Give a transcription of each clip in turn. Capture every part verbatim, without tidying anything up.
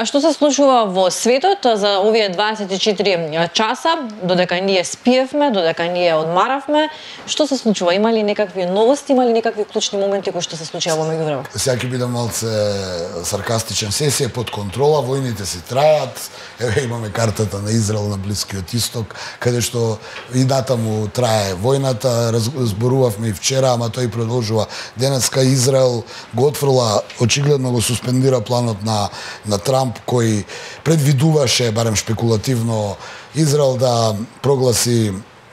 А што се случува во светот за овие дваесет и четири часа, додека ние спиевме, додека ние одмаравме? Што се случува? Има ли некакви новости, има ли некакви клучни моменти кои што се случува во меѓувреме? Сега ќе бидам малце саркастичен. Се е под контрола, војните си трајат. Еве имаме картата на Израел на Блискиот Исток, каде што и натаму трае војната. Разборувавме и вчера, ама тој продолжува. Денеска Израел го отфрла, очигледно го суспендира планот на на Трамп, кој предвидуваше, барем шпекулативно, Израел да прогласи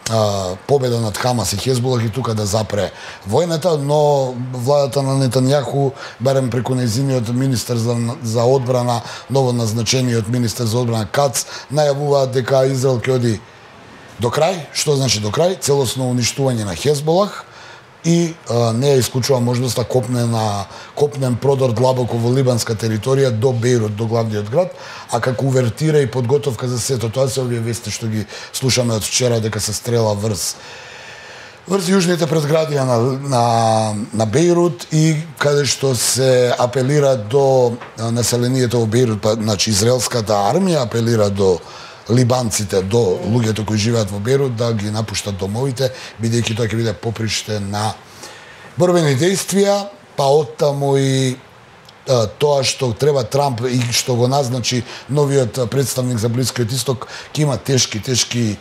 а, победа над Хамас и Хезболах и тука да запре војната, но владата на Нетањаху, барем преку нејзиниот министер за, за одбрана, новоназначениот министер за одбрана Кац, најавуваат дека Израел ќе оди до крај. Што значи до крај? Целосно уништување на Хезболах и а, не ја исклучува можноста копне на копнен продор длабоко во либанска територија до Бејрут, до главниот град, а како увертира и подготовка за сето тоа се овие вести што ги слушаме од вчера дека се стрела врз врз јужните предградија на на на Бејрут и каде што се апелира до населението во Бејрут, па значи израелската армија апелира до либанците, до луѓето кои живеат во Бејрут да ги напуштат домовите, бидејќи тоа ќе биде поприште на борбени действија, па оттаму и а, тоа што треба Трамп и што го назначи новиот представник за Блискиот Исток, ќе има тешки, тешки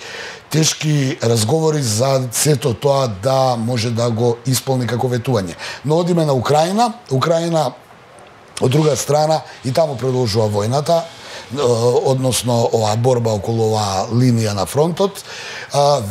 тешки разговори за сето тоа да може да го исполни како ветување. Но одиме на Украина, Украина од друга страна и таму продолжува војната, односно оваа борба околу оваа линија на фронтот.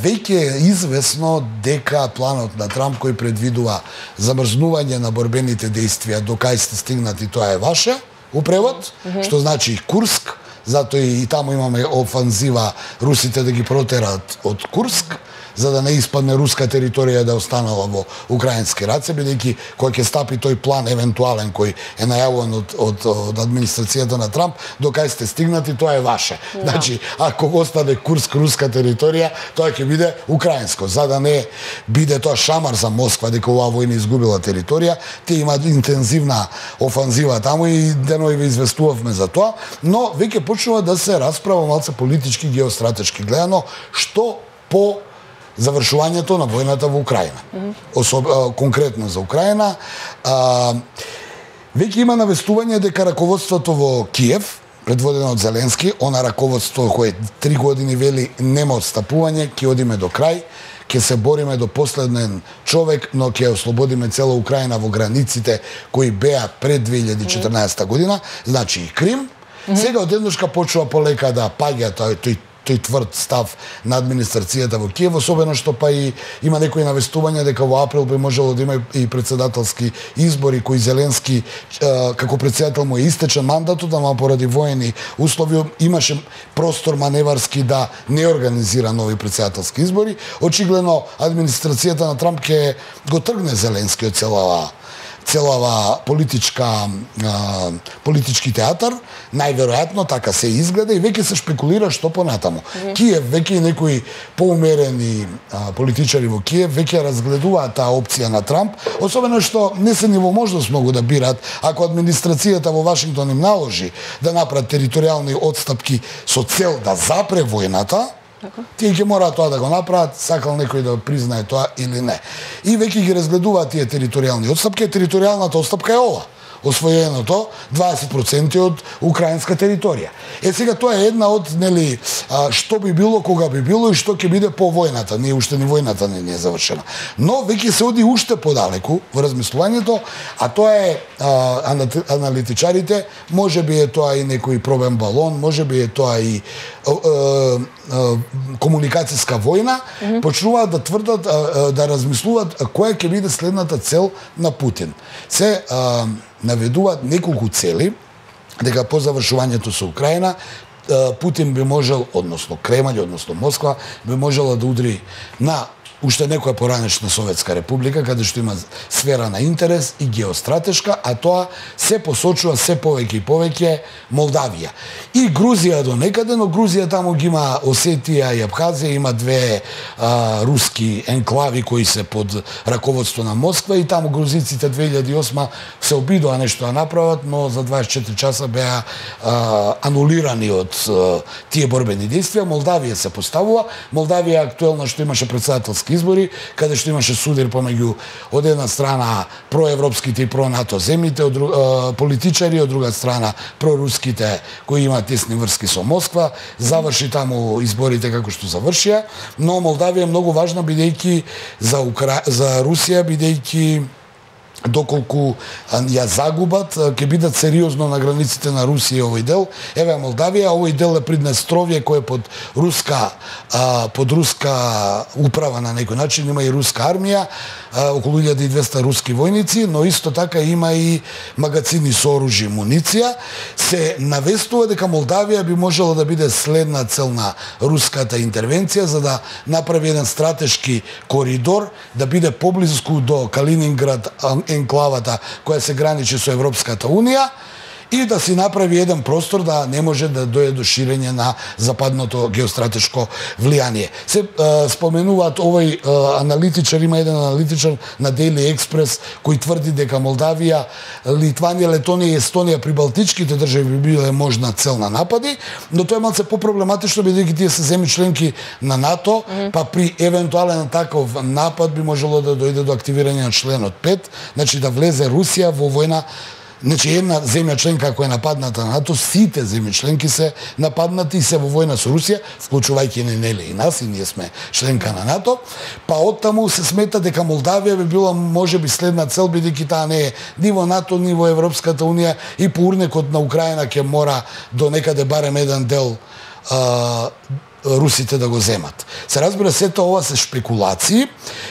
Веќе е известно дека планот на Трамп кој предвидува замрзнување на борбените действија до кај сте стигнати, тоа е ваше, у превод, mm-hmm. што значи Курск, затоа и таму имаме офанзива русите да ги протерат од Курск, за да не испадне руска територија да останала во украински раце, бидејќи кој ќе стапи тој план евентуален кој е најавуван од, од, од администрацијата на Трамп, до кај сте стигнати, тоа е ваше. No. Значи, ако остане Курск руска територија, тоа ќе биде украинско, за да не биде тоа шамар за Москва дека оваа војна изгубила територија, те имаат интензивна офанзива таму и денови ве известувавме за тоа, но веќе почнува да се расправа малце политички, геостратешки гледано, што по завршувањето на војната во Украина. Mm-hmm. Особ, а, конкретно за Украина. А, веќе има навестување дека раководството во Киев, предводено од Зеленски, она раководство кое три години вели нема отстапување, ќе одиме до крај, ќе се бориме до последен човек, но ќе ослободиме цела Украина во границите кои беа пред две илјади и четрнаесета година, значи и Крим. Mm-hmm. Сега одедношка почува полека да паѓа тој, тој тој тврд став на администрацијата во Киев, особено што па и има некои навестувања дека во април би можело да има и председателски избори кои Зеленски како председател му е истечен мандатот, ама поради воени услови имаше простор маневарски да не организира нови председателски избори. Очигледно администрацијата на Трамп ќе го тргне Зеленски од целава целава политичка а, политички театар, најверојатно така се изгледа и веќе се шпекулира што понатаму. Mm-hmm. Киев, веќе и некои поумерени а, политичари во Киев веќе разгледуваат таа опција на Трамп, особено што не се ни во можност многу да бират, ако администрацијата во Вашингтон им наложи да направат територијални отстапки со цел да запре војната, тие ќе мораат тоа да го направат, сакал некој да признае тоа или не. И веќе ги разгледуваат тие територијални отстапки, територијалната отстапка е ова. Освоеното дваесет проценти од украинска територија. Е сега тоа е една од, нели, а, што би било, кога би било и што ќе биде по војната. Не уште ни војната не, не е завршена. Но веќе се оди уште подалеку во размислувањето, а тоа е а, аналитичарите, можеби е тоа и некој пробен балон, можеби е тоа и а, а, комуникацијска војна, mm-hmm. почнуваат да тврдат, а, да размислуваат која ќе биде следната цел на Путин. Се а, наведуваат неколку цели, дека по завршувањето со Украина Путин би можел, односно Кремљ, односно Москва, би можела да удри на уште некоја поранешна Советска република, каде што има сфера на интерес и геостратешка, а тоа се посочува се повеќе и повеќе Молдавија. И Грузија до некаде, но Грузија таму ги има Осетија и Абхазија, има две а, руски енклави кои се под раководство на Москва и таму грузиците две илјади и осма се обидоа нешто да направат, но за дваесет и четири часа беа а, анулирани од а, тие борбени действија. Молдавија се поставува. Молдавија актуелно што имаше председателски избори, каде што имаше судир помеѓу од една страна проевропските и про-НАТО земјите, од друг, а, политичари, од друга страна проруските кои имаат тесни врски со Москва. Заврши таму изборите како што завршија, но Молдавија е многу важна бидејќи за Укра... за Русија, бидејќи доколку ја загубат, ќе бидат сериозно на границите на Русија овој дел. Еве Молдавија, овој дел е Приднестровје кој е под руска а, под руска управа на некој начин, има и руска армија, а, околу илјада и двесте руски војници, но исто така има и магацини со оружје и муниција. Се навестува дека Молдавија би можела да биде следна цел на руската интервенција за да направи еден стратешки коридор, да биде поблиску до Калининград, енклавата која се граничи со Европската Унија, и да си направи еден простор да не може да дојде до ширење на западното геостратешко влијание. Се е, споменуваат овој е, аналитичар, има еден аналитичар на Daily Express кој тврди дека Молдавија, Литванија, Летонија и Естонија при балтичките држави би биле можна цел на напади, но тоа е малце попроблематично бидејќи тие се земји членки на НАТО, mm -hmm. па при евентуален таков напад би можело да дојде до активирање на членот пет, значи да влезе Русија во војна. Значи, една земја членка која е нападната на НАТО, сите земји членки се нападнати и се во војна со Русија, вклучувајќи не нели и нас, и ние сме членка на НАТО, па оттаму се смета дека Молдавија би била можеби следна цел, бидејќи таа не е ни во НАТО, ни во Европската Унија, и по урнекот на Украина ќе мора до некаде барем еден дел а, русите да го земат. Се разбира, сето ова се шпекулации,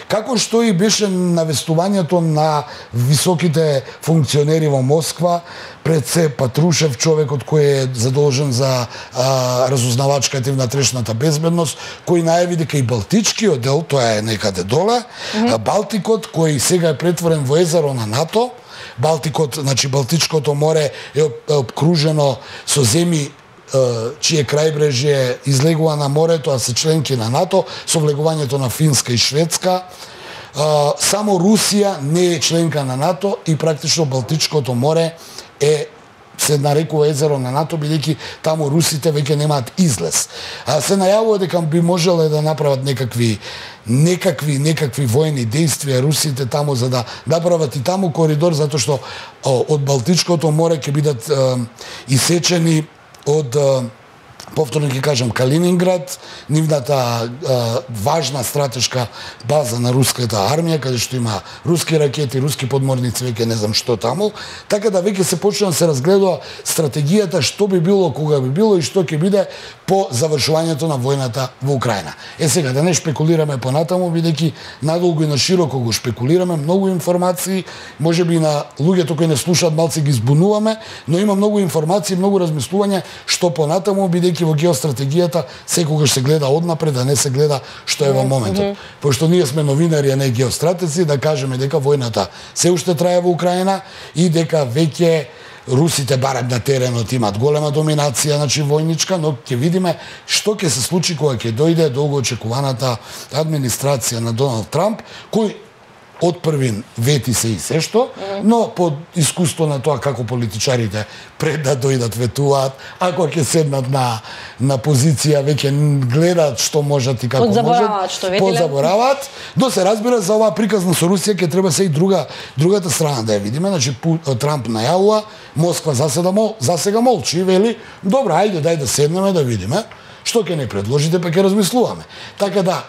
како што и беше навестувањето на високите функционери во Москва, пред се Патрушев, човекот кој е задолжен за а, разузнавачката и внатрешната безбедност, кој најави дека и Балтичкиот дел, тоа е некаде доле, mm -hmm. Балтикот, кој сега е претворен во езеро на НАТО, Балтикот, значи Балтичкото море е обкружено со земји чие крајбрежје излегува на морето, а се членки на НАТО, со влегувањето на Финска и Шведска. Само Русија не е членка на НАТО и практично Балтичкото море е се нарекува езеро на НАТО, бидејќи таму русите веќе немаат излез. А се најавува дека би можеле да направат некакви некакви некакви војни действија русите таму за да направат и таму коридор, затоа што од Балтичкото море ќе бидат е, исечени од, повторно ќе кажам, Калининград, нивната е, важна стратешка база на руската армија, каде што има руски ракети, руски подморници, веќе не знам што таму, така да веќе се почна да се разгледува стратегијата што би било, кога би било и што ќе биде по завршувањето на војната во Украина. Е сега, да не шпекулираме понатаму, бидејќи надолго и на широко го шпекулираме, многу информации, можеби и на луѓето кои не слушаат малце ги збунуваме, но има многу информации, многу размислувања што понатаму, бидејќи во геостратегијата секогаш се гледа однапред, а не се гледа што е во моментот. Mm -hmm. Пошто ние сме новинари, а не геостратеци, да кажеме дека војната се уште трае во Украина и дека веќе русите барем на теренот имат голема доминација, значи војничка, но ќе видиме што ќе се случи кога ќе дојде долго очекуваната администрација на Доналд Трамп, кој од првин вети се и се што, но под искуство на тоа како политичарите пред да дојдат ветуваат, ако ќе седнат на на позиција веќе гледаат што можат и како можат, што ветиле, подзабораваат, но се разбира за оваа приказна со Русија ќе треба се и друга другата страна да ја видиме, значи Трамп најавува, Москва заседа мол, засега молчи и вели, добро, ајде дај да седнеме да видиме што ќе не предложите, па ќе размислуваме. Така да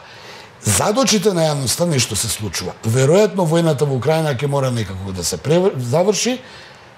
зад очите на јавноста нешто се случува. Веројатно војната во Украина ќе мора некако да се заврши,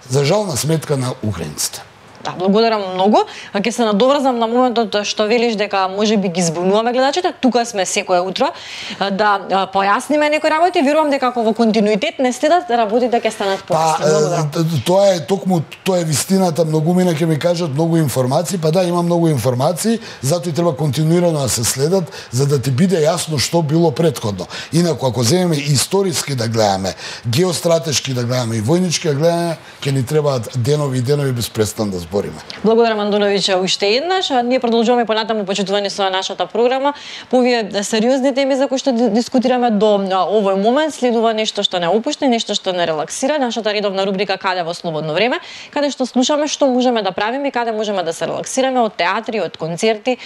за жална сметка на украинците. Да, благодарам многу. Ќе се надоврзам на моментот што велиш дека можеби ги збунуваме гледачите. Тука сме секое утро да појасниме некои работи. Верувам дека ако во континуитет не следат, работите ќе станат појасни. Па, тоа е токму тоа е вистината. Многумина ќе ми кажат многу информации, па да, има многу информации, затоа и треба континуирано да се следат за да ти биде јасно што било претходно. Инаку ако земеме историски да гледаме, геостратешки да гледаме и војнички да гледаме, ќе ни требаат денови и денови без престан да збориме. Благодарам Андоновиќ уште еднаш. Ние продолжуваме понатаму почитувани со нашата програма. По овие сериозни теми за кои што дискутираме до овој момент следува нешто што не опушти, нешто што не релаксира, нашата редовна рубрика Каде во слободно време, каде што слушаме што можеме да правиме, каде можеме да се релаксираме од театри, од концерти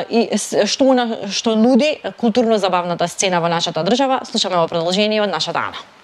и што што нуди културно забавната сцена во нашата држава. Слушаме во продолжение од нашата Ана.